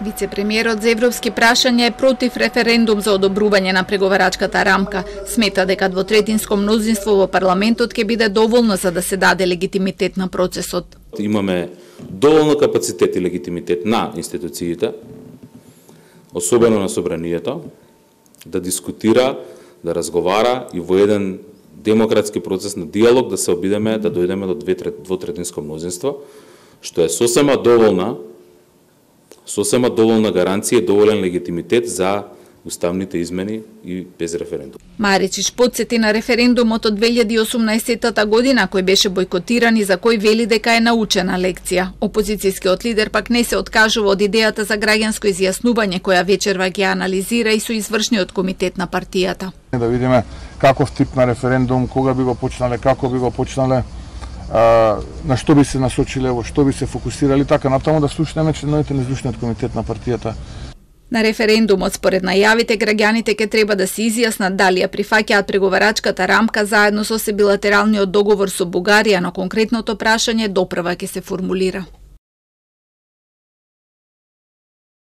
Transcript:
Вице-премиерот за европски прашања е против референдум за одобрување на преговарачката рамка. Смета дека двотретинско мнозинство во парламентот ќе биде доволно за да се даде легитимитет на процесот. Имаме доволно капацитет и легитимитет на институциите, особено на собранието, да дискутира, да разговара и во еден демократски процес на диалог да се обидеме да дојдеме до двотретинско мнозинство, што е сосема доволна гаранција и доволен легитимитет за уставните измени и без референдум. Маричич потсети на референдумот од 2018 година кој беше бојкотиран и за кој вели дека е научена лекција. Опозицијскиот лидер пак не се откажува од идејата за граѓанско изјаснување која вечерва ќе анализира и со извршниот комитет на партијата. Да видиме каков тип на референдум, кога би го почнале, како би го почнале, на што би се насочиле, во што би се фокусирали, така натаму да слушнеме членовите на извршниот комитет на партијата. На референдумот, според најавите, граѓаните ќе треба да се изјаснат дали ја прифаќаат преговарачката рамка заедно со билатералниот договор со Бугарија, но конкретното прашање допрва ќе се формулира.